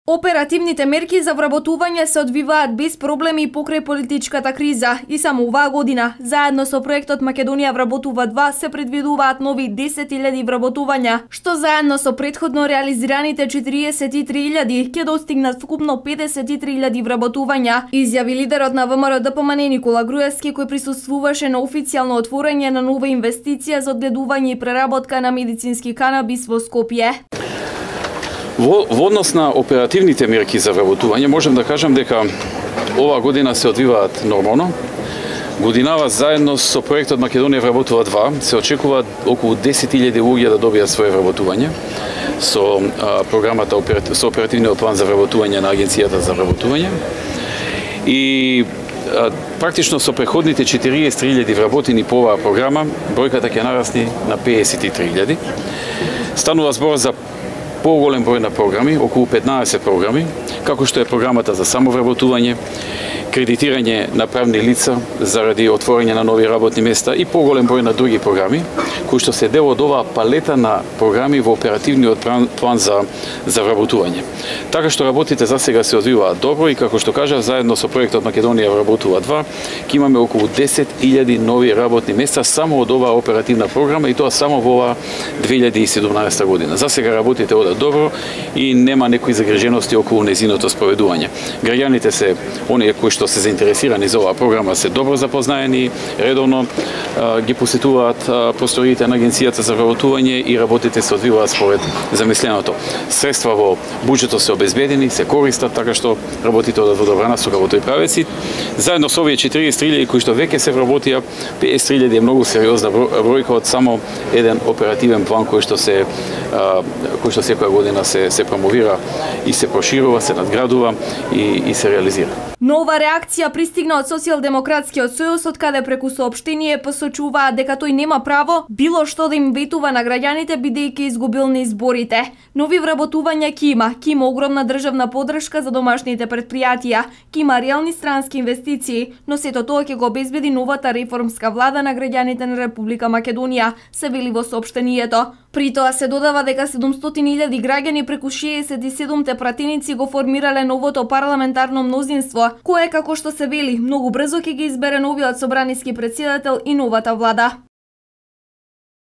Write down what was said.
Оперативните мерки за вработување се одвиваат без проблеми покрај политичката криза и само оваа година, заедно со проектот Македонија вработува 2, се предвидуваат нови 10.000 вработувања, што заедно со претходно реализираните 43.000 ќе достигнат вкупно 53.000 вработувања, изјави лидерот на ВМРО-ДПМН Никола Груевски, кој присуствуваше на официјално отворање на нова инвестиција за одгледување и преработка на медицински канабис во Скопје. Во однос на оперативните мерки за вработување, можем да кажам дека оваа година се одвиваат нормално. Годинава заедно со проектот Македонија вработува 2, се очекува околу 10.000 луѓе да добијат свое вработување со програмата со оперативниот план за вработување на Агенцијата за вработување. И практично со преходните 43.000 вработени по оваа програма, бројката ќе нарасне на 53.000. Станува збор за поголем број на програми, околу 15 програми, како што е програмата за самовработување, кредитирање на правни лица заради отворање на нови работни места и поголем број на други програми, кои што се дел од оваа палета на програми во оперативниот план за вработување. Така што работите за сега се одвиваат добро и како што кажав, заедно со проектот Македонија вработува 2, ќе имаме околу 10.000 нови работни места само од оваа оперативна програма и тоа само во оваа 2017 година. За сега работите одат добро и нема некои загрижености околу незиното спроведување. Граѓаните се оние кои што се заинтересирани за оваа програма, се добро запознаени, редовно ги посетуваат просториите на Агенцијата за вработување и работите се одвиваат според замисленото. Средства во буџетот се обезбедени, се користат, така што работите одат во добра насока во тој правец. Заедно со овие 43.000 кои што веќе се вработија, 50.000 е многу сериозна бројка од само еден оперативен план кој што секоја година се промовира и се проширува, се надградува и се реализира. Нова реакција пристигна од Социјалдемократскиот сојуз, од каде преку соопштение посочуваат дека тој нема право било што да им ветува на граѓаните бидејќи изгубил на изборите. Нови вработувања ќе има огромна државна поддршка за домашните претпријатија, ќе има реални странски инвестиции, но сето тоа ќе го обезбеди новата реформска влада на граѓаните на Република Македонија, се вели во соопштението. При тоа се додава дека 700.000 граѓани преку 67 пратеници го формирале новото парламентарно мнозинство, кое, како што се вели, многу брзо ќе ги избере новиот собраниски претседател и новата влада.